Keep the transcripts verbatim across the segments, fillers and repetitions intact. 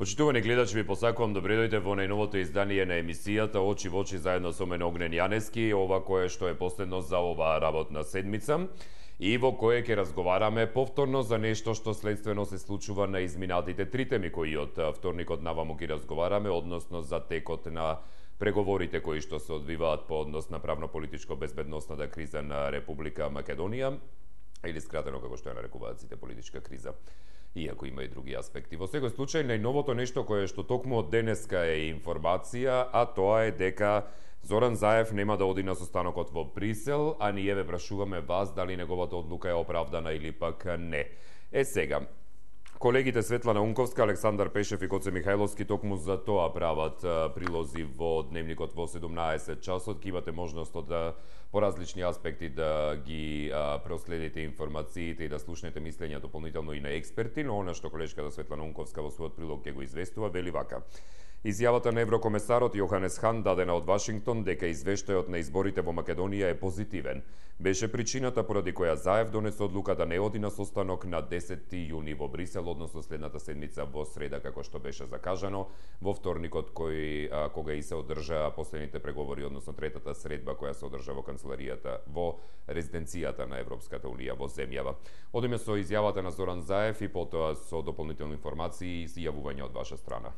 Почитувани гледачи, ви посакувам добре дојдете во најновото издание на емисијата Очи во очи заедно со мене Огнен Јанески, ова кое што е последно за оваа работна седмица и во кое ќе разговараме повторно за нешто што следствено се случува на изминатите три теми кои од вторникот наваму ги разговараме, односно за текот на преговорите кои што се одвиваат по однос на правно-политичко-безбедносната криза на Република Македонија, или скратено како што ја нарекуваат сите политичка криза, иако има и други аспекти. Во секој случај, најновото нешто кое што токму од денеска е информација, а тоа е дека Зоран Заев нема да оди на состанокот во Брисел, а ние ве прашуваме вас дали неговата одлука е оправдана или пак не. Е сега, колегите Светлана Унковска, Александар Пешев и Коце Михајловски токму за тоа прават прилози во дневникот во седумнаесет часот. Ки имате можност да по различни аспекти да ги а, проследите информациите и да слушнете мислења дополнително и на експерти, но она што колешката Светлана Унковска во својот прилог ќе го известува, вели вака. Изјавата на еврокомесарот Јоханес Хан дадена од Вашингтон дека извештајот на изборите во Македонија е позитивен. Беше причината поради која Заев донесе одлука да не оди на состанок на десети јуни во Брисел, односно следната седмица во среда, како што беше закажано, во вторникот кој а, кога и се одржа последните преговори, односно третата средба која се одржа во канцеларијата во резиденцијата на Европската унија во земјава. Одиме со изјавата на Зоран Заев и потоа со дополнителни информации и изјавување од ваша страна.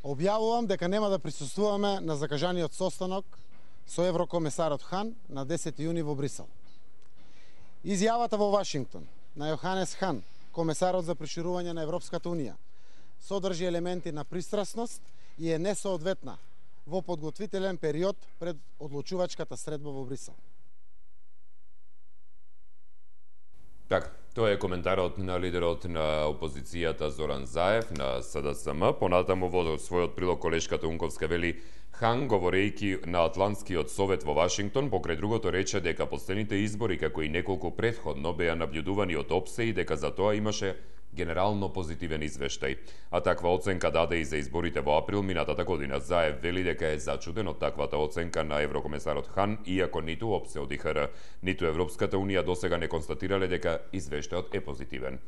Објавувам дека нема да присуствуваме на закажаниот состанок со еврокомесарот Хан на десети јуни во Брисел. Изјавата во Вашингтон на Јоханес Хан, комесарот за проширување на Европската унија, содржи елементи на пристрасност и е несоодветна во подготвителен период пред одлучувачката средба во Брисел. Така, тоа е коментарот на лидерот на опозицијата Зоран Заев на С Д С М. Понатаму во својот прилог колешката Унковска вели Хан, говорејќи на Атлантскиот совет во Вашингтон, покрај другото рече дека последните избори, како и неколку претходно, беа наблюдувани од ОПСЕ и дека за тоа имаше генерално позитивен извештај. А таква оценка даде и за изборите во април минатата година. Заев вели дека е зачуден од таквата оценка на еврокомесарот Хан, иако ниту ОПСЕ од И Х Р, ниту Европската унија досега не констатирале дека извештајот е позитивен.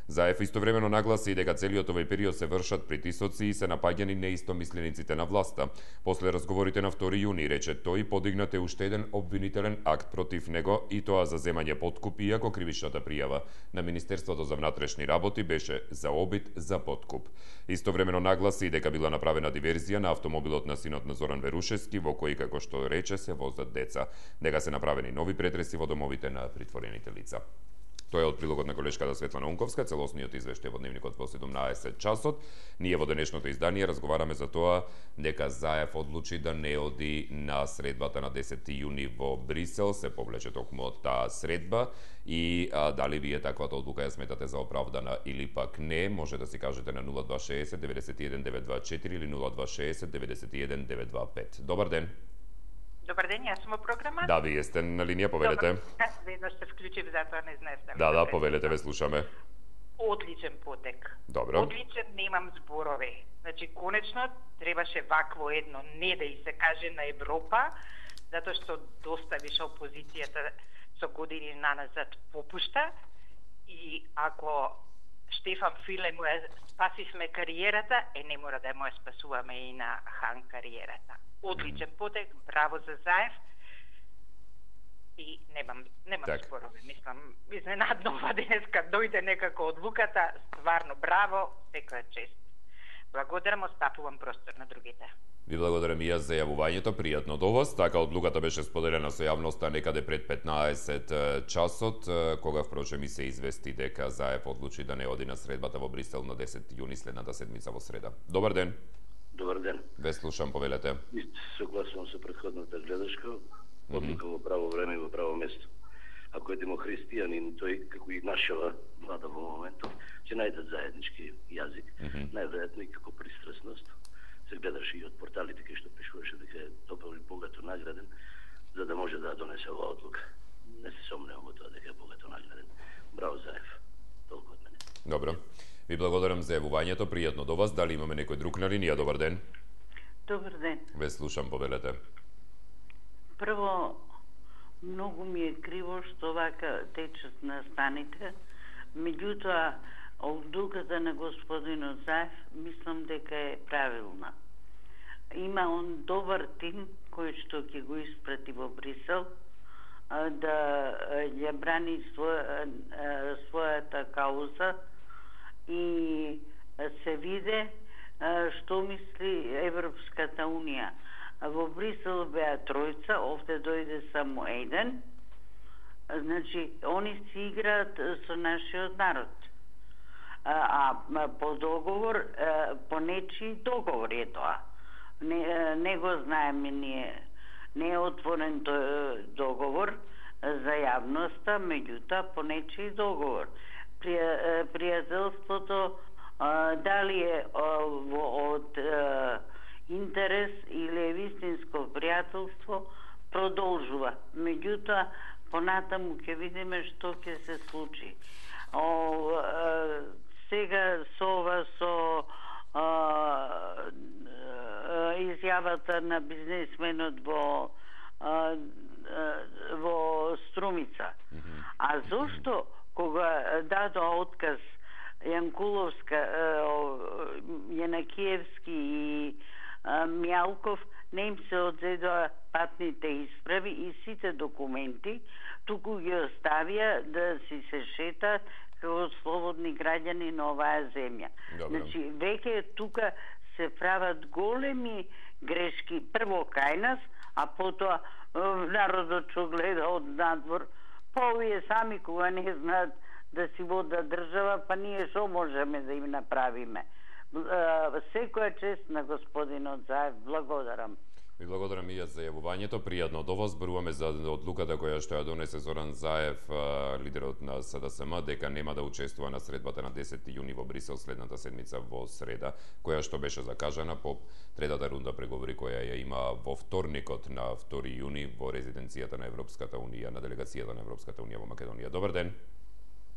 Заев истовремено нагласи дека целиот овој период се вршат притисоци и се напаѓани неистомислениците на власта. После разговорите на втори јуни, рече тој, подигнат е уште еден обвинителен акт против него и тоа за земање подкуп, иако кривичната пријава на Министерството за внатрешни работи беше за обид за подкуп. Истовремено нагласи дека била направена диверзија на автомобилот на синот на Зоран Верушевски, во кој, како што рече, се возат деца. Дека се направени нови претреси во домовите на притворените лица. Тоа е од прилогот на колешката Светлана Унковска, целосниот извештај во дневникот во седумнаесет часот. Ние во денешното издание разговараме за тоа дека Заев одлучи да не оди на средбата на десети јуни во Брисел, се повлече токму од таа средба и а, дали вие таквата одлука ја сметате за оправдана или пак не, може да си кажете на нула два шеесет деветдесет и еден девет два четири или нула два шеесет деветдесет и еден девет два пет. Добар ден. Добар ден, јас сум во програма. Да, вие сте на линија, повелете. Добар, веднаш се вклучив, затоа не знаеш да. Да, да, повелете, ве слушаме. Одличен потек. Добро. Одличен, немам зборови. Значи, конечно, требаше вакво едно не да и се каже на Европа, затоа што доста више опозицијата со години наназад попушта и ако Штефан Филе му ја спасивме кариерата, е не мора да му ја спасуваме и на Хан кариерата. Одличен потек, браво за Заев и немам, немам так. спорови. Мислам, изненадно ова денеска дојде некако одлуката, стварно браво, секоја чест. Благодарам, остапувам простор на другите. Ви благодарам и јас за јавувањето, пријатно до вас. Така одлуката беше споделена со јавноста некаде пред петнаесет часот, кога впрочем и се извести дека Заев одлучи да не оди на средбата во Брисел на десети јуни следната седмица во среда. Добар ден. Добар ден. Ве слушам, повелете. Согласувам со претходната гледачка, одлука mm -hmm. во право време и во право место. Ако е демохристијанин, тој, како и нашава влада во моментот, ќе најдат заеднички јазик, mm -hmm. најверојатно и како пристрасност. Се гледаше и од порталите кај што пишуваше дека е добро и богато награден, за да може да донесе оваа одлука. Не се сомневам во тоа дека е богато награден. Браво, Заев. Толку од мене. Добро. Ви благодарам за јавувањето, пријатно до вас. Дали имаме некој друг на линија? Добар ден. Добар ден. Ве слушам, повелете. Прво, многу ми е криво што вака течат на станите. Меѓутоа, Одлуката на господинот Заев мислам дека е правилна. Има он добар тим кој што ќе го испрати во Брисел да ја брани своја, својата кауза и се виде што мисли Европската унија. Во Брисел беа тројца, овде дојде само еден. Значи, они си играат со нашиот народ. А, а по договор, по нечи договор е тоа. Не, не го знаеме ние. Не е отворен договор за јавноста, меѓутоа по нечи договор. Пријателството дали е од интерес или е вистинско пријателство, продолжува. Меѓутоа, понатаму ќе видиме што ќе се случи. О, а, сега со ова со а, а, изјавата на бизнесменот во а, во Струмица. Mm-hmm. А зошто кога дадоа отказ Јанкуловска, Јанакиевски и Мјалков, не им се одзедоа патните исправи и сите документи, туку ги оставија да си се шетаат како слободни граѓани на оваа земја. Добре. Значи, веќе тука се прават големи грешки, прво кај нас, а потоа народот што гледа од надвор, па овие сами кога не знаат да си водат држава, па ние што можеме да им направиме. Секоја чест на господинот Заев, благодарам. Ви благодарам и јас за јавувањето. Пријатно до вас. Зборуваме за одлуката која што ја донесе Зоран Заев, лидерот на С Д С М, дека нема да учествува на средбата на десети јуни во Брисел следната седмица во среда, која што беше закажана по третата рунда преговори која ја има во вторникот на втори јуни во резиденцијата на Европската унија, на делегацијата на Европската унија во Македонија. Добар ден.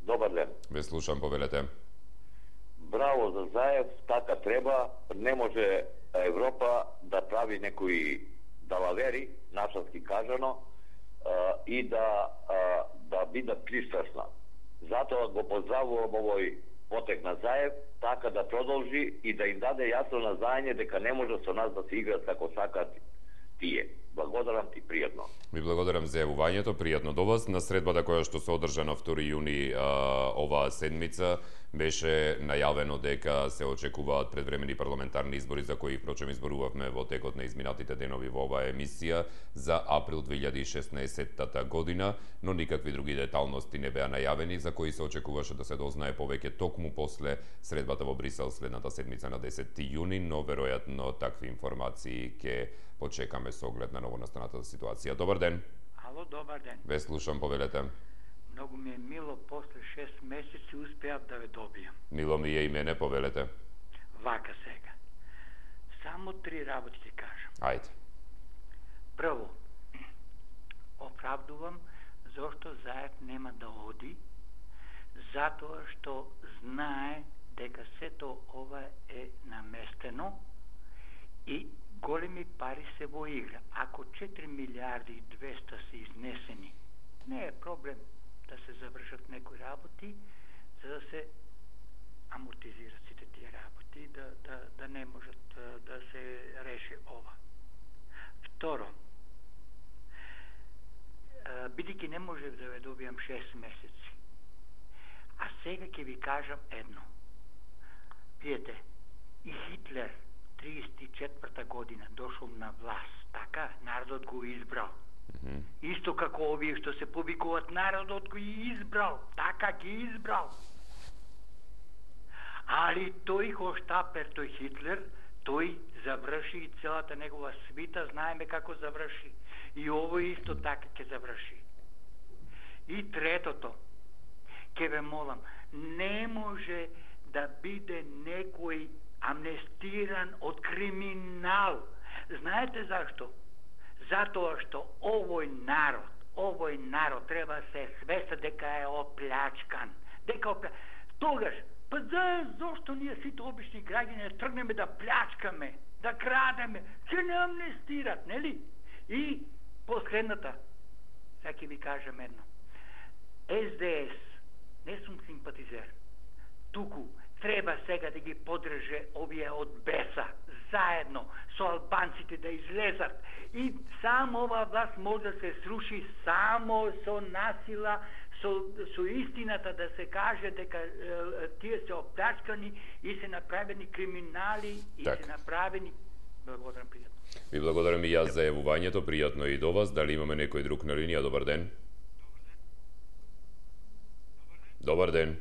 Добар ден. Ве слушам, повелете. Браво за Заев, така треба. Не може Европа да прави некои далавери, нашански кажано, и да да биде пристрасна. Затоа го поздравувам овој потек на Заев, така да продолжи и да им даде јасно назање дека не може со нас да се играат како сакат тие. Благодарам ти, пријатно. Ви благодарам за јавувањето, пријатно до вас. На средбата која што се одржа на втори јуни а, оваа седмица, беше најавено дека се очекуваат предвремени парламентарни избори за кои впрочем изборувавме во текот на изминатите денови во оваа емисија за април две илјади и шеснаесетта година, но никакви други деталности не беа најавени за кои се очекуваше да се дознае повеќе токму после средбата во Брисел следната седмица на десети јуни, но веројатно такви информации ќе почекаме со оглед на новонастаната ситуација. Добар ден. Ало, добар ден. Ве слушам, повелете. Многу ми е мило, после шест месеци успеав да ве добијам. Мило ми е и мене, повелете. Вака сега. Само три работи ти кажам. Ајде. Прво, оправдувам зашто Заев нема да оди, затоа што знае дека сето ова е наместено и големи пари се во игра. Ако четири милиарди и двеста се изнесени, не е проблем да се завршат некои работи, за да се амортизират сите тие работи, да, да, да не можат да, да се реши ова. Второ, бидејќи не може да ве добијам шест месеци, а сега ќе ви кажам едно. Видете, и Хитлер триесет и четврта година дошол на власт, така, народот го избрал. Mm-hmm. Исто како овие што се повикуваат, народот го избрал, така ги избрал. Али тој Хоштапер, тој Хитлер, тој заврши и целата негова свита, знаеме како заврши. И овој исто така ќе заврши. И третото, ќе ве молам, не може да биде некој амнестиран од криминал. Знаете зашто? Затоа што овој народ, овој народ треба се свеста дека е оплячкан. Дека опля... Тогаш, па за, зашто ние сите обични граѓани тргнеме да плячкаме, да крадеме, ќе не амнестират, нели? И последната, сега ќе ви кажам едно. Ес Де Ес, не сум симпатизер. туку треба сега да ги подрже овие од беса, заедно со албанците да излезат. И само ова власт може да се сруши само со насила, со, со истината да се каже дека е, тие се оплячкани и се направени криминали и так. се направени... Благодарам, пријатно. Ви благодарам и јас за јавувањето, пријатно и до вас. Дали имаме некој друг на линија? Добар ден. Добар ден.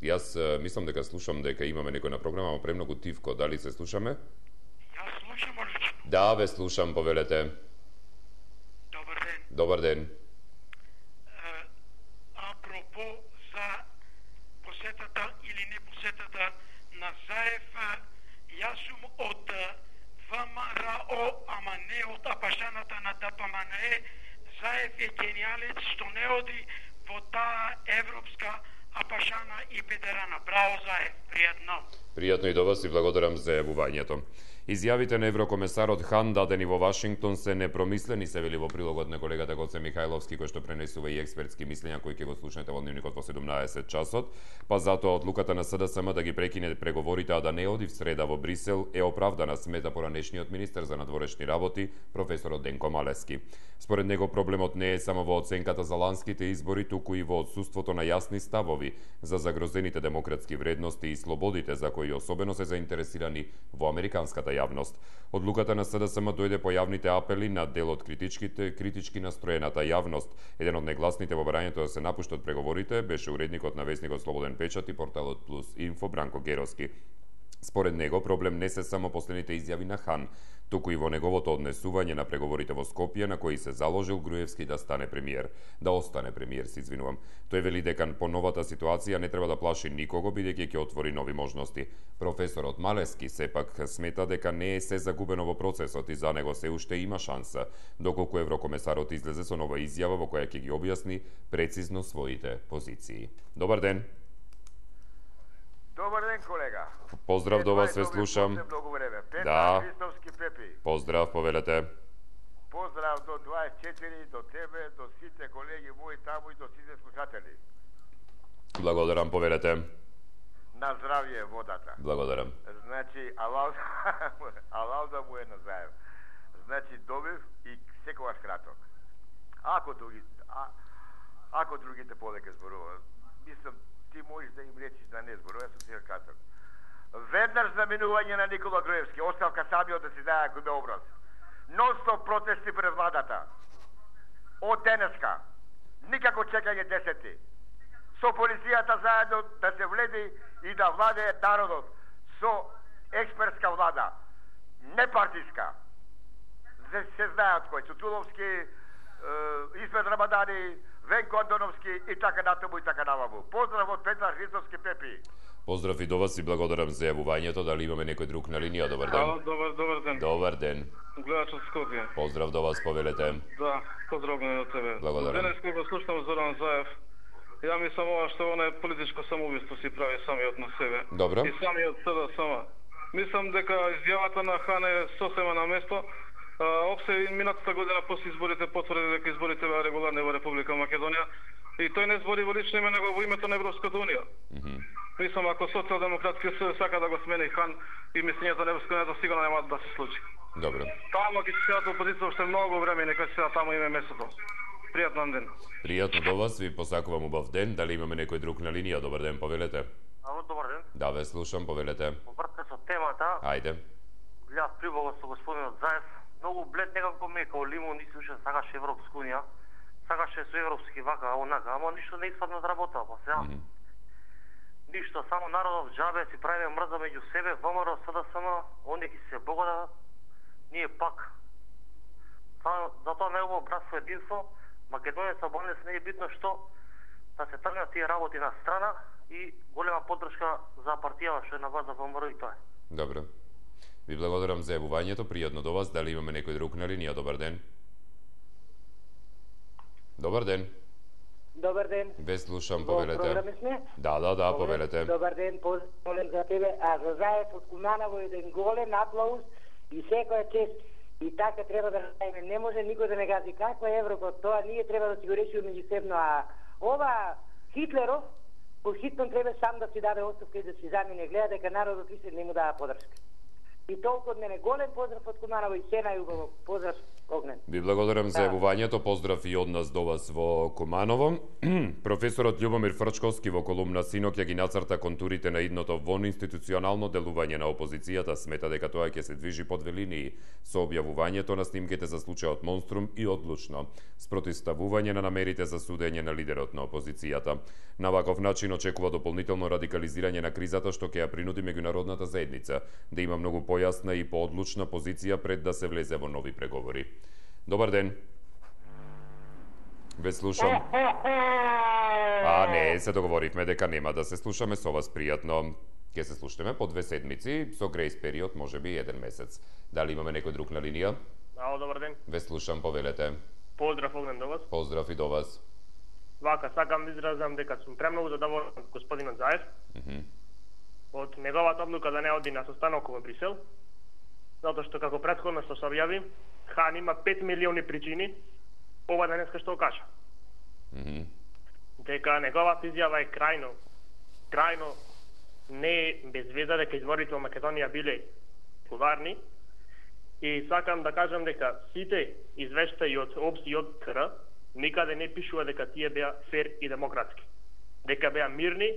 Јас мислам дека слушам дека имаме некој на програма, но премногу тивко. Дали се слушаме? Јас слушам, одлично. Да, ве слушам, повелете. Добар ден. Добар ден. Uh, апропо за посетата или не посетата на Заев, јас сум од ВМРО, ама не од апашаната на ДПМНЕ. Заев е гениалец што не оди во таа европска апашана и педерана. Браво, Заев, пријатно. Пријатно и до вас и благодарам за јавувањето. Изјавите на еврокомесарот Хан дадени во Вашингтон се непромислени, се вели во прилогот на колегата Гоце Михајловски, кој што пренесува и експертски мислења кои ќе го слушнете во дневникот во седумнаесет часот. Па затоа одлуката на СДСМ да ги прекине преговорите, а да не оди в среда во Брисел, е оправдана, смета поранешниот министер за надворешни работи, професорот Денко Малески. Според него проблемот не е само во оценката за ланските избори, туку и во отсуството на јасни ставови за загрозените демократски вредности и слободите за кои особено се заинтересирани во американската јавност. Одлуката на СДСМ дојде по јавните апели на дел од критичките, критички настроената јавност. Еден од негласните во барањето да се напуштат преговорите беше уредникот на весникот Слободен печат и порталот Плюс Инфо Бранко Геровски. Според него проблем не се само последните изјави на Хан, туку и во неговото однесување на преговорите во Скопје, на кои се заложил Груевски да стане премиер, да остане премиер, се извинувам. Тој вели дека по новата ситуација не треба да плаши никого, бидејќи ќе отвори нови можности. Професорот Малески сепак смета дека не е се загубено во процесот и за него се уште има шанса, доколку еврокомесарот излезе со нова изјава во која ќе ги објасни прецизно своите позиции. Добар ден. Добар ден, колега. Поздрав до вас, се слушам. Да. Христовски Пепи. Поздрав, повелете. Поздрав до дваесет и четири, до тебе, до сите колеги мои таму и до сите слушатели. Благодарам, повелете. На здравје водата. Благодарам. Значи, алал, алал да му е на Заев. Значи, добив и секогаш краток. Ако други, а, ако другите подека зборуваат, мислам, ти можеш да им речиш да не зборува, јас сум сега краток. Веднаш заминување на Никола Груевски, оставка самиот да си даја кој бе образ. Нон-стоп протести пред владата. Од денеска. Никако чекање десети. Со полицијата заедно да се вледи и да владее народот. Со експертска влада. Не партиска. Se, se знаат кој. Цутуловски, е, Исмет Рамадани, Венко Антоновски и така натаму и така наваму. Поздрав од Петар Христовски Пепи. Поздрав и до вас и благодарам за јавувањето. Дали имаме некој друг на линија? Добар ден. Ало, добар, добар ден. Добар ден. Гледач од Скопје. Поздрав до вас, повелете. Да, поздравувам од тебе. Благодарам. Денес кога слушам Зоран Заев, ја мислам ова што она е политичко самоубиство си прави самиот на себе. Добро. И самиот СДСМ. Мислам дека изјавата на Хан е сосема на место. Опсе минатата година после изборите потврди дека изборите беа регуларни во Република Македонија и тој не збори во лично име, него во името на Европската унија. Mm -hmm. Мислам, ако Социјалдемократски съюз сака да го смени Хан и мислењето на Европската унија, сигурно нема да се случи. Добро. Таму ќе се седат опозиција уште многу време, нека се седат таму име место. Пријатен ден. Пријатно до вас, ви посакувам убав ден. Дали имаме некој друг на линија? Добар ден, повелете. Ало, добар ден. Да, ве слушам, повелете. Повртка со темата. Ајде. Гледав прибого со господинот Заев. Многу блед, некако ме као лимон, и се уште сакаше Европска унија. Сакаше со европски вака, онака, ама ништо не испадна од работа, па сега. Mm -hmm. Ништо, само народов џабе си правиме мрза меѓу себе, ВМРО, СДСМ, оние ќе се богатат, ние пак. Затоа негово братство единство, Македонија со Албанија не е битно што да се тргнат тие работи на страна и голема поддршка за партијава што е на база ВМРО и тоа е. Добро. Ви благодарам за јавувањето, пријатно до вас. Дали имаме некој друг на линија? Добар ден. Добар ден. Добар ден. Ве слушам, повелете. Програми сме? Да, да, да, повелете. Добар ден, поздрав за тебе. А за Заев од Куманово еден голем аплауз и секоја чест. И така треба да направиме. Не може никој да не гази. Каква е Европа? Тоа ние треба да си го решиме меѓусебно, а Ова Хитлеров по хитно треба сам да си даде оставка и да си замине, гледа дека народот више не му дава подршка. И толку од мене голем поздрав од Куманово и се најубаво поздрав Огнен. Ви благодарам за јавувањето, поздрав и од нас до вас во Куманово. Професорот Љубомир Фрчковски во колумна синок ја ги нацрта контурите на идното вонинституционално делување на опозицијата, смета дека тоа ќе се движи под велинии со објавувањето на снимките за случајот Монструм и одлучно спротивставување на намерите за судење на лидерот на опозицијата. На ваков начин очекува дополнително радикализирање на кризата што ќе ја принуди меѓународната заедница да има многу појасна и поодлучна позиција пред да се влезе во нови преговори. Добар ден. Ве слушам. А не, се договоривме дека нема да се слушаме со вас пријатно. Ке се слушаме по две седмици, со грейс период, може би еден месец. Дали имаме некој друг на линија? Ало, добар ден. Ве слушам, повелете. Поздрав Огнен до вас. Поздрав и до вас. Вака, сакам да изразам дека сум премногу задоволен од господинот Заев. Mm -hmm. Од неговата одлука да не оди на состанок во Брисел, затоа што како претходно што се објави, Хан има пет милиони причини ова денеска што кажа. Mm -hmm. Дека неговата изјава е крајно, крајно не без веза дека изборите во Македонија биле куларни. И сакам да кажам дека сите извештаи од ОПС и од КР никаде не пишува дека тие беа фер и демократски. Дека беа мирни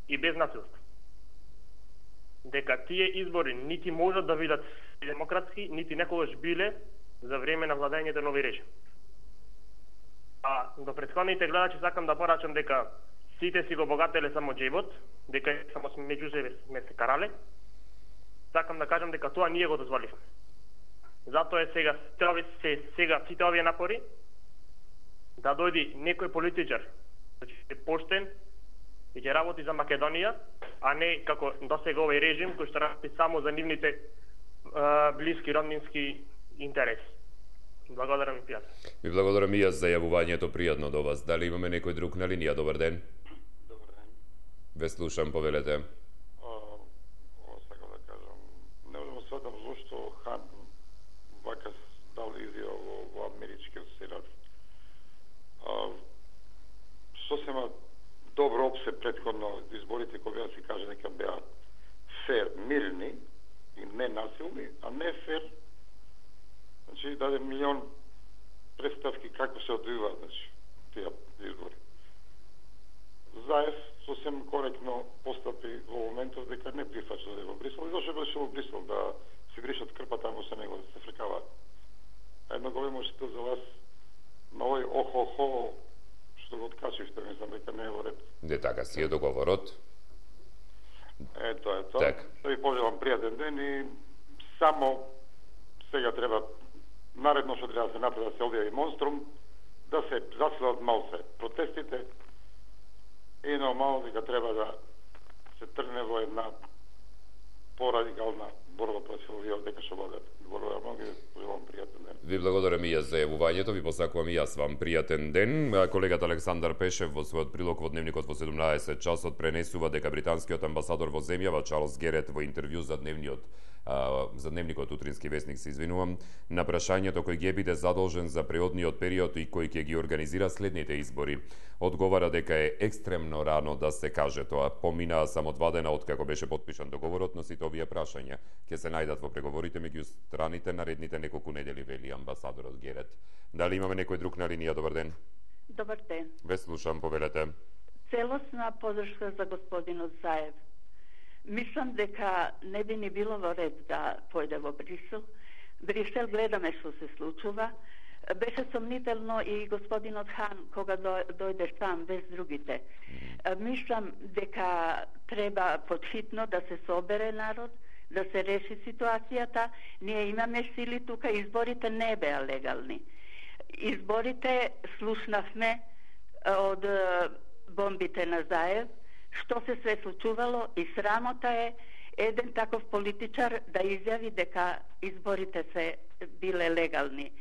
и без насилство. Дека тие избори нити можат да бидат демократски, нити некогаш биле за време на владењето нови режим. А до претходните гледачи сакам да порачам дека сите си го богателе само джебот, дека само меѓу себе сме се карале. Сакам да кажам дека тоа ние го дозволивме. Затоа е сега се сега сите овие напори да дојди некој политичар, значи поштен и ќе работи за Македонија, а не како досега овој режим кој што работи само за нивните а, блиски роднински интереси. Благодарам и пријатно. Ви благодарам и јас за јавувањето, пријатно до вас. Дали имаме некој друг на линија? Добар ден. Добар ден. Ве слушам, повелете. Ова сакам да кажам, не можам да сватам зошто Хан вака дал изјава во, во америчкиот сенат. Сосема добро опсе претходно изборите кои беа си каже дека беа фер, мирни и не насилни, а не фер. Значи даде милион представки како се одвиваат, значи тие избори. Заев сосем коректно постапи во моментов дека не прифача да е во Брисел и зашто беше во Брисел да се гришат крпа таму со него, да се фркаваат. Едно големо што за вас на овој охо-хо што го откачивте, мислам дека не е во ред. Не така си е договорот. Ето, ето. Так. Да ви пожелам пријатен ден и само сега треба наредно што треба да се направи да се објави Монструм, да се засилат мал се протестите и нормално дека треба да се тргне во една порадикална борба против овие дека што водат. Благодарам многу и пожелам пријатен ден. Ви благодарам и јас за јавувањето, ви посакувам и јас вам пријатен ден. Колегата Александар Пешев во својот прилог во Дневникот во седумнаесет часот пренесува дека британскиот амбасадор во земјава Чарлс Герет во интервју за дневниот а, за Дневникот утрински вестник се извинувам, на прашањето кој ќе биде задолжен за преодниот период и кој ќе ги организира следните избори. Одговара дека е екстремно рано да се каже тоа. Поминаа само два дена од како беше потпишан договорот, но сите овие прашања ќе се најдат во преговорите меѓу страните наредните неколку недели, вели амбасадорот Герет. Дали имаме некој друг на линија? Добар ден. Добар ден. Ве слушам, повелете. Целосна подршка за господинот Заев. Мислам дека не би ни било во ред да појде во Брисел. Брисел гледаме што се случува. Беше сомнително и господинот Хан кога дојде сам без другите. Мислам дека треба подхитно да се собере народ, да се реши ситуацијата. Ние имаме сили тука, изборите не беа легални. Изборите слушнавме од бомбите на Заев, што се све случувало и срамота е еден таков политичар да изјави дека изборите се биле легални.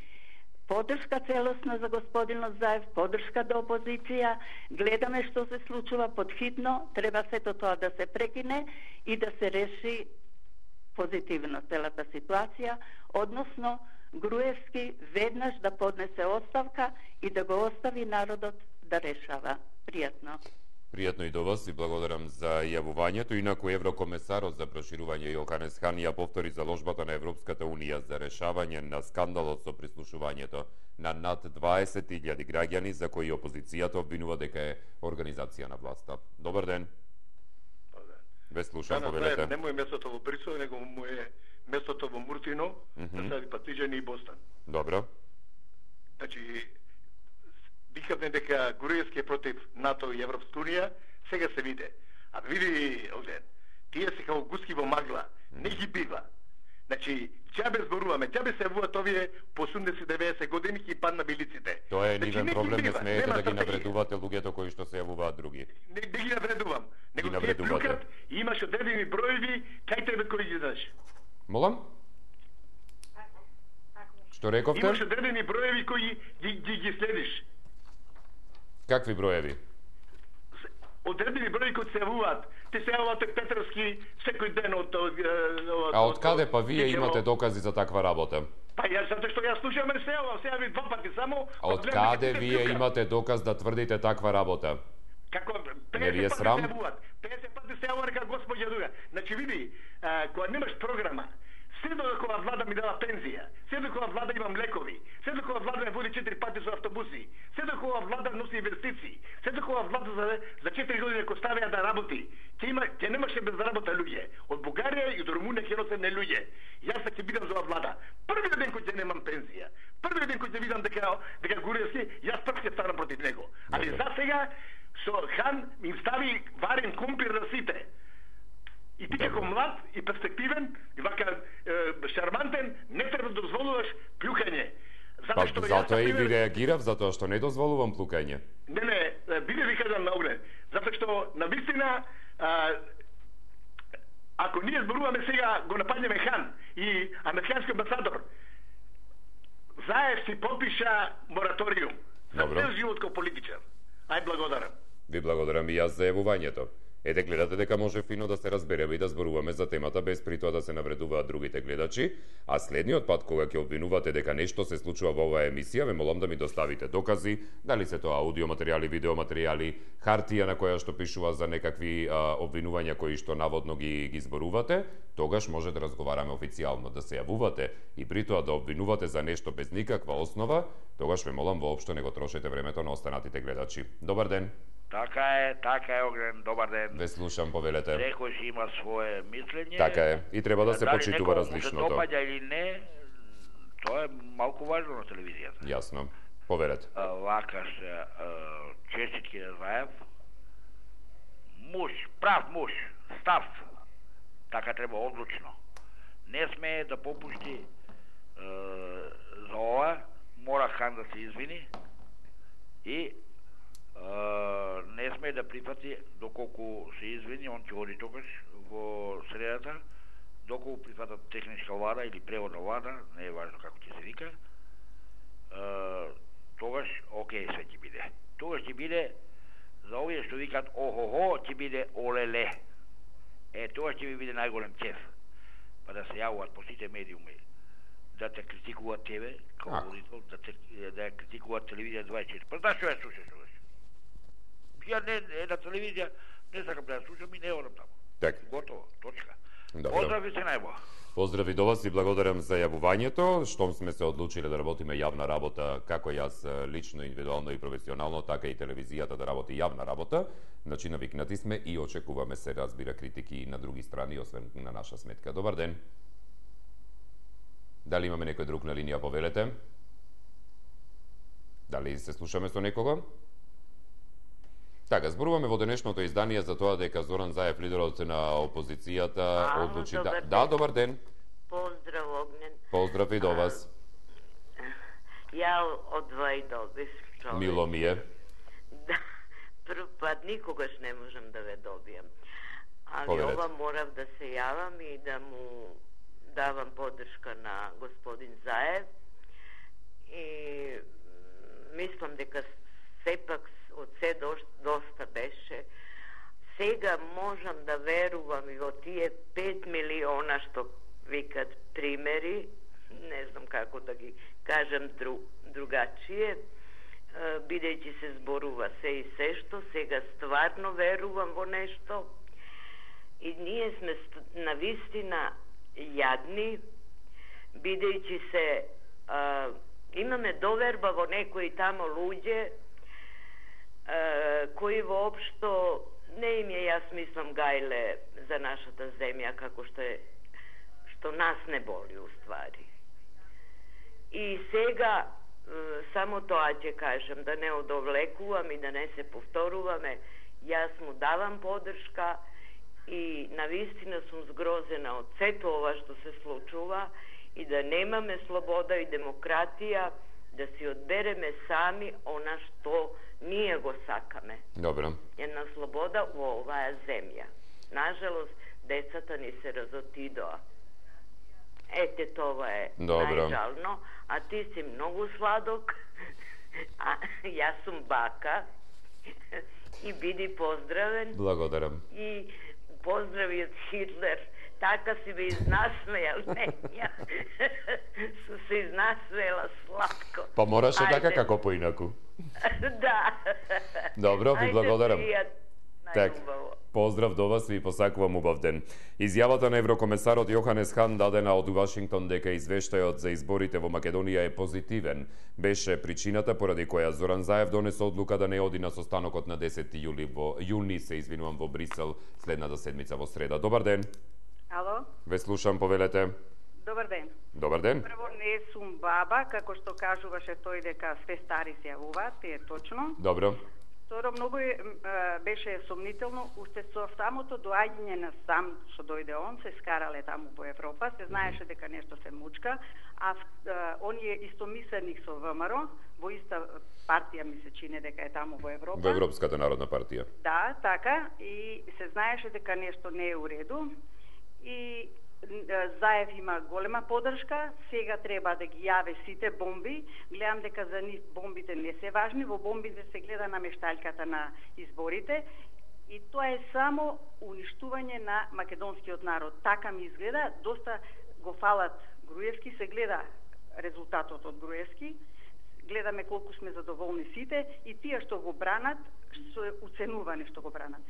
Подршка целосна за господинот Заев, подршка до опозиција, гледаме што се случува подхитно, треба сето тоа да се прекине и да се реши позитивно целата ситуација, односно Груевски веднаш да поднесе оставка и да го остави народот да решава. Пријатно. Пријатно и до вас и благодарам за јавувањето. Инаку еврокомесарот за проширување Јоханес Хан ја повтори заложбата на Европската унија за решавање на скандалот со прислушувањето на над дваесет илјади граѓани за кои опозицијата обвинува дека е организација на власта. Добар ден. Ве слушам, повелете. Не му е местото во Брисел, него му е местото во Муртино, да се Патиџани и Бостон. Добро. Значи, викавме дека Груевски е против НАТО и Европска унија, сега се виде. А види, овде, тие се као гуски во магла, не ги бива. Значи, ќабе зборуваме, ќабе се јавуваат овие по осумдесет деветесет години и падна билиците. Тоа е значи, нивен проблем, не смеете да ги стратегија. навредувате луѓето кои што се јавуваат други. Не, не ги навредувам. Него Ги тие навредувате. плюкат и имаш одредени броеви, кај тебе кој ги знаеш. Молам? Што рековте? Имаш одредени броеви кои ги, ги, ги следиш. Какви броеви? Одредени броеви кои се јавуваат. Те се јавуваат од Петровски секој ден од... од, од А од каде па вие Кикево. имате докази за таква работа? Па јас затоа што јас слушам се јавам, се јави два пати само. А од каде вие имате доказ да тврдите таква работа? Како Не ви е петдесет пати срам? се јавуваат. петдесет пати се јавува дека господја Дуга. Значи види, а, кога немаш програма, се докога влада ми дава пензија, се докога влада има млекови, се докога влада ме води четири пати со автобуси, се докога влада носи инвестиции, се докога влада за за четири години ко ставија да работи, ќе има ќе немаше без работа луѓе. Од Бугарија и до Румунија ќе носат не луѓе. Јас ќе бидам за оваа влада. Првиот ден кој ќе немам пензија, првиот ден кој ќе видам дека дека Груевски, јас прв ќе станам против него. Али за сега со Хан им стави варен компир на сите. И ти како млад и перспективен, и вака е, шармантен, не треба да дозволуваш плюкање. Па затоа и ви реагирав, затоа што не дозволувам плукање. Не, не, биде ви кажам на оглед. Затоа што на вистина а, ако ние зборуваме сега го нападнеме Хан и американски амбасадор, Заев си подпиша мораториум за Добро. цел живот како политичар. Ај благодарам. Ви благодарам и јас за јавувањето. Ете, гледате дека може фино да се разбереме и да зборуваме за темата без при тоа да се навредуваат другите гледачи, а следниот пат кога ќе обвинувате дека нешто се случува во оваа емисија, ве молам да ми доставите докази, дали се тоа аудиоматеријали, видеоматеријали, хартија на која што пишува за некакви а, обвинувања кои што наводно ги ги зборувате, тогаш може да разговараме официјално, да се јавувате и при тоа да обвинувате за нешто без никаква основа, тогаш ве молам воопшто не го трошете времето на останатите гледачи. Добар ден. Така е, така е, Огнен, добар ден. Ве слушам, повелете. Секој си има свое мислење. Така е, и треба да се почитува различното. Дали некој му се допаѓа или не, тоа е малку важно на телевизијата. Јасно. Поверете. А, вака се, честитки на Заев, муж, прав муж, став, така треба одлучно. Не смее да попушти е, за ова, мора Хан да се извини и Uh, не сме да прифати доколку се извини, он ќе оди тогаш во средата, доколку прифатат техничка влада или преводна влада, не е важно како ќе се вика, uh, тогаш окей се ќе биде. Тогаш ќе биде за овие што викат охо-хо, ќе биде олеле. Е, тогаш ќе ви биде најголем чеф. Па да се јавуваат по сите медиуми, да те критикуваат тебе, како водител, да те да ја критикуваат телевизија дваесет и четири. Па да што ја слушаш тогаш? Ја не, не на телевизија не сакам да ја слушам и не одам таму. Така. Готово, точка. Добро. Поздрави се најбо. Поздрави до вас и благодарам за јавувањето. Штом сме се одлучиле да работиме јавна работа, како јас лично, индивидуално и професионално, така и телевизијата да работи јавна работа, значи навикнати сме и очекуваме се разбира критики и на други страни, освен на наша сметка. Добар ден. Дали имаме некој друг на линија, повелете? Дали се слушаме со некого? Така, зборуваме во денешното издание за тоа дека Зоран Заев, лидерот на опозицијата, Ало, одлучи добар да... ден. Да, добар ден. Поздрав, Огнен. Поздрав и до вас. Ја одва и добив човек. Мило ми е. Да, прв пат никогаш не можам да ве добијам. Али Поверете. ова морав да се јавам и да му давам поддршка на господин Заев. И мислам дека сепак од се доста беше. Сега можам да верувам и во тие пет милиона што викат примери, не знам како да ги кажам дру, другачие, бидејќи се зборува се и се што, сега стварно верувам во нешто и ние сме навистина јадни, бидејќи се а, имаме доверба во некои тамо луѓе а, кои воопшто не им е, јас мислам, гајле за нашата земја, како што е, што нас не боли уствари. И сега само тоа ќе кажам, да не одовлекувам и да не се повторуваме, јас му давам поддршка и навистина сум згрозена од сето ова што се случува и да немаме слобода и демократија, да си одбереме сами она што ние го сакаме. Добро. Една слобода во оваа земја. Нажалост, децата ни се разотидоа. Ете, това е Добро. најжално. А ти си многу сладок, а јас сум бака. И биди поздравен. Благодарам. И поздрави од Хитлер. Така си ме изнасмејал, не, ја. Су се изнасмејала сладко. Па мораше Ајде. така како поинаку. Да. Добро, ви Ајде, благодарам. пријат. Так, Најубаво. поздрав до вас и ви посакувам убав ден. Изјавата на еврокомесарот Јоханес Хан дадена од Вашингтон дека извештајот за изборите во Македонија е позитивен, беше причината поради која Зоран Заев донесе одлука да не оди на состанокот на десети јули во јуни се извинувам во Брисел следната седмица во среда. Добар ден. Ало? Ве слушам, повелете. Добар ден. Добар ден. Прво, не сум баба, како што кажуваше тој дека све стари се јавуваат, е точно. Добро. Второ, многу е, беше сомнително, уште со самото доаѓање на сам, што дојде он, се скарале таму во Европа, се знаеше дека нешто се мучка, а, а оние истомисленик со ВМРО, во иста партија ми се чини дека е таму во Европа. Во Европската народна партија. Да, така, и се знаеше дека нешто не е уреду, и Заев има голема поддршка, сега треба да ги јаве сите бомби. Гледам дека за нив бомбите не се важни, во бомбите се гледа на мешталката на изборите и тоа е само уништување на македонскиот народ. Така ми изгледа, доста го фалат Груевски, се гледа резултатот од Груевски, гледаме колку сме задоволни сите и тие што го бранат, што е уценувани што го бранат.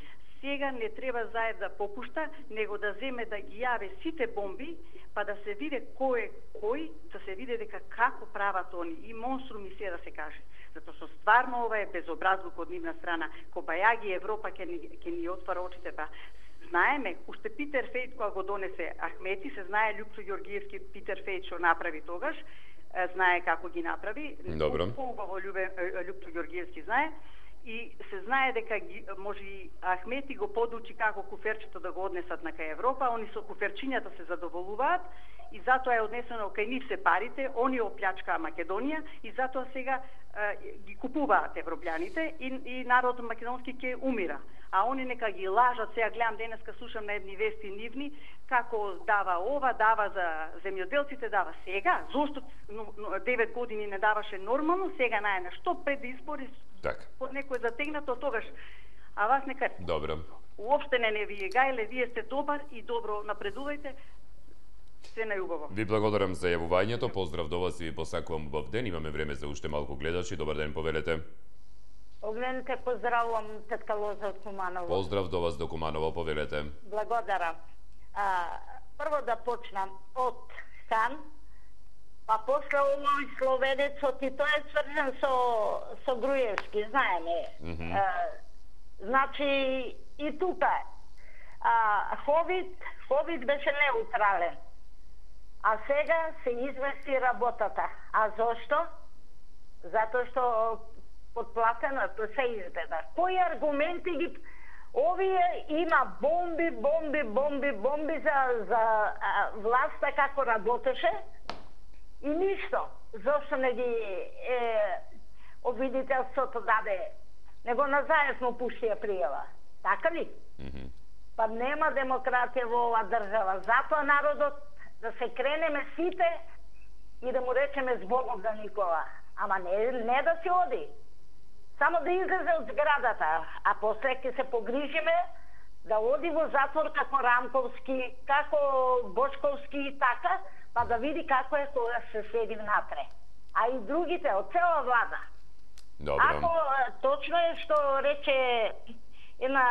Сега не треба Заев да попушта, него да земе да ги јаве сите бомби, па да се види кој е кој, да се види дека како прават они и монструми се да се каже. Затоа што стварно ова е безобразлук од нивна страна. Кобајаги Европа ќе ни, ќе ни отвара очите, па знаеме, уште Питер Фејт кога го донесе Ахмети, се знае Љупчо Ѓоргиевски Питер Фејт што направи тогаш, знае како ги направи. Добро. Поубаво Љупчо Ѓоргиевски знае. И се знае дека ги, може и Ахмети го подучи како куферчето да го однесат на кај Европа, они со куферчињата се задоволуваат и затоа е однесено кај нив се парите, они оплячкаа Македонија и затоа сега е, ги купуваат европјаните и, и народот македонски ќе умира. А они нека ги лажат, сега гледам денеска слушам на едни вести нивни, како дава ова, дава за земјоделците, дава сега, зошто девет години не даваше нормално, сега најна, што пред избори Так. под некој затегнато тогаш, а вас нека Добро. уопште не не вие гајле, вие сте добар и добро напредувајте, се најубаво. Ви благодарам за јавувањето, поздрав до вас и ви посакувам убав ден, имаме време за уште малку гледачи, добар ден, повелете. Огненке, поздравувам тетка Лоза од Куманово. Поздрав до вас до Куманово, повелете. Благодарам. А, прво да почнам од Хан, па после овој словенецот и тоа е сврзан со, со Груевски, знаеме. Mm -hmm. а, значи, и тука а, Ховид, Ховид беше неутрален, а сега се извести работата. А зошто? Затоа што подплатено се изгледа. Кои аргументи ги... Овие има бомби, бомби, бомби, бомби за, за а, власта како работеше и ништо. Зошто не ги е, обвинителството даде? Него на Заев му пуштија пријава. Така ли? Mm -hmm. Па нема демократија во оваа држава. Затоа народот да се кренеме сите и да му речеме збогом за Никола. Ама не, не да се оди. Само да излезе од зградата, а после ќе се погрижиме да оди во затвор како Рамковски, како Бошковски и така, па да види како е кога се седи внатре. А и другите, од цела влада. Добро. Ако точно е што рече една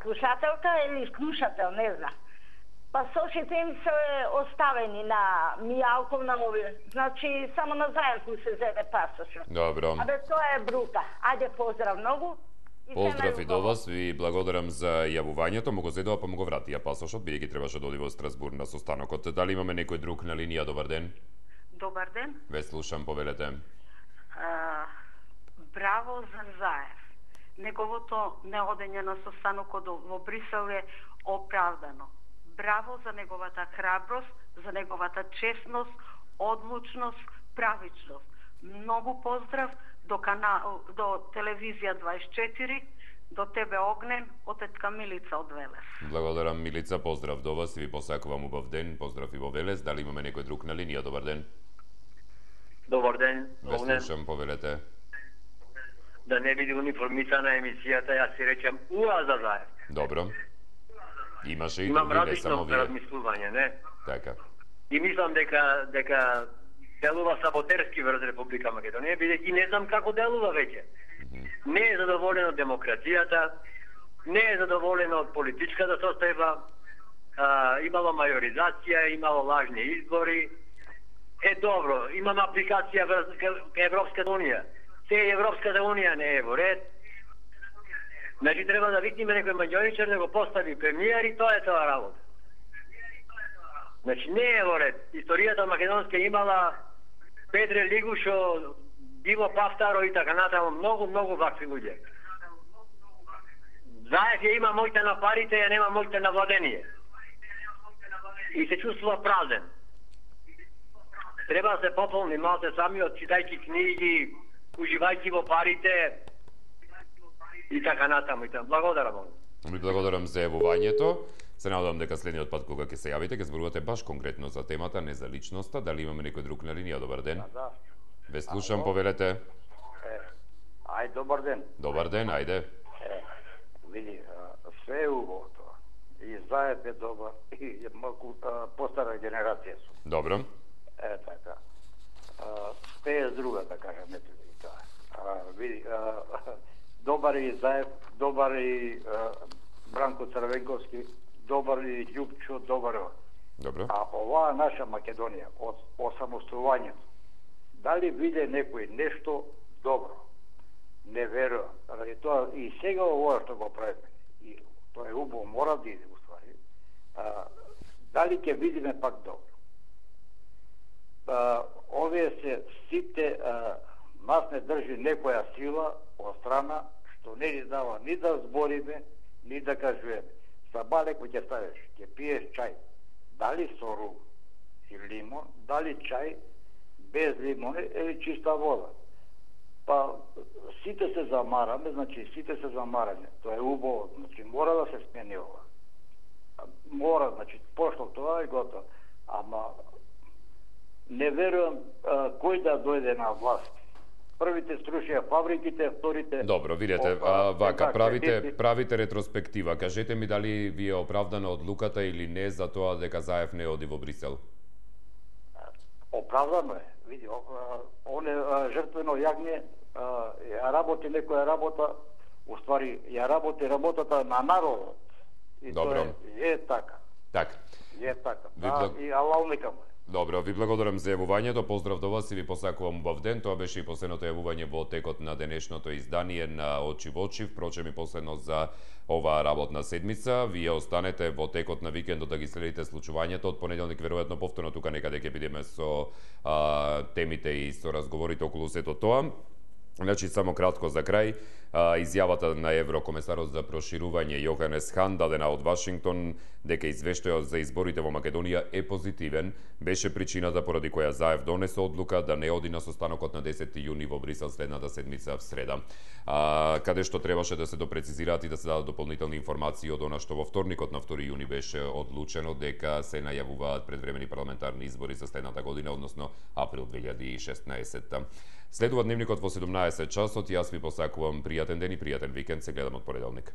слушателка или слушател, не знам. Пасошите им се оставени на Мијалков, на овие. Значи, само на заедно се зеде пасошот. Добро. Абе, тоа е брука. Ајде, поздрав многу. И Поздрав и до вас, ви благодарам за јавувањето. Му го зедува, па му го вратија пасошот, бидејќи требаше да оди во Страсбург на состанокот. Дали имаме некој друг на линија? Добар ден. Добар ден. Ве слушам, повелете. А, браво за Заев. Неговото неодење на состанокот во Брисел е оправдано. Браво за неговата храброст, за неговата честност, одлучност, правичност. Многу поздрав до канал, до телевизија дваесет и четири, до тебе Огнен, од тетка Милица од Велес. Благодарам, Милица, поздрав до вас и ви посакувам убав ден. Поздрав и во Велес. Дали имаме некој друг на линија? Добар ден. Добар ден, Ве Огнен. слушам, повелете. Да не биде униформисана емисијата, јас си речем уа за Заев. Добро. Имаше и Имам други, не различно само вие. размислување, не? Така. И мислам дека дека делува саботерски врз Република Македонија, бидејќи не знам како делува веќе. Не е задоволен од демократијата, не е задоволен од политичката состојба, а, имало мајоризација, имало лажни избори. Е, добро, имам апликација врз Европската Унија. Се Европската Унија не е во ред. Значи треба да викнеме некој маѓоничар да го постави премиер и тоа е тоа работа. Значи не е во ред. Историјата македонска имала Петре Лигушо, Диво Павтаро и така натаму, многу, многу вакви луѓе. Заев ја има моќта на парите, ја нема моќта на владение. И се чувствува празен. Треба да се пополни малце самиот, читајќи книги, уживајќи во парите и така натаму. И така. Благодарам. Ви благодарам за јавувањето. Се надевам дека следниот пат кога ќе се јавите, ќе зборувате баш конкретно за темата, не за личноста. Дали имаме некој друг на линија? Добар ден. Да. Ве слушам, повелете. Е, ај, добар ден. Добар ден, ајде. Е, види, све е убаво тоа. И Заев е добар, и малку постара генерација су. Добро. Е, така. Све е друга, да кажам, ето и тоа. А, види, а, добар и Заев, добар и а, Бранко Црвенковски, добар и Љупчо, добар. Добро. А оваа наша Македонија, од осамостојувањето, дали виде некој нешто добро? Не верувам. Ради тоа и сега ова што го правиме, и тоа е убаво, мора да иде уствари. А, дали ќе видиме пак добро? А, овие се сите, а, нас не држи некоја сила од страна што не ни дава ни да збориме, ни да кажуваме. Сабале кој ќе ставиш, ќе пиеш чај, дали со рум и лимон, дали чај без лимон или чиста вода. Па сите се замараме, значи сите се замараме. Тоа е убаво, значи мора да се смени ова. Мора, значи пошло тоа и готово. Ама не верувам а, кој да дојде на власт. Првите струшија фабриките, вторите... Добро, видете, а, вака, правите, правите ретроспектива. Кажете ми дали ви е оправдана одлуката или не за тоа дека Заев не оди во Брисел? Оправдано е. Види, он е жртвено јагне, ја работи некоја работа, уствари, ја работи работата на народот. И Добро. тоа е, е така. Така. Е така. Ви Да, благ- и алал нека му. Добро, ви благодарам за јавувањето, поздрав до вас и ви посакувам убав ден. Тоа беше и последното јавување во текот на денешното издание на Очи во очи, впрочем и последно за оваа работна седмица. Вие останете во текот на викендот да ги следите случувањето. Од понеделник веројатно повторно тука некаде ќе бидеме со а, темите и со разговорите околу сето тоа. Значи, само кратко за крај, а, изјавата на еврокомесарот за проширување Јоханес Хан, дадена од Вашингтон, дека извештајот за изборите во Македонија е позитивен, беше причината поради која Заев донесе одлука да не оди на состанокот на десети јуни во Брисел следната седмица в среда. А, каде што требаше да се допрецизираат и да се дадат дополнителни информации од она што во вторникот на втори јуни беше одлучено дека се најавуваат предвремени парламентарни избори за следната година, односно април две илјади и шеснаесетта. Следува дневникот во седумнаесет часот. Јас ви посакувам пријатен ден и пријатен викенд. Се гледам од понеделник.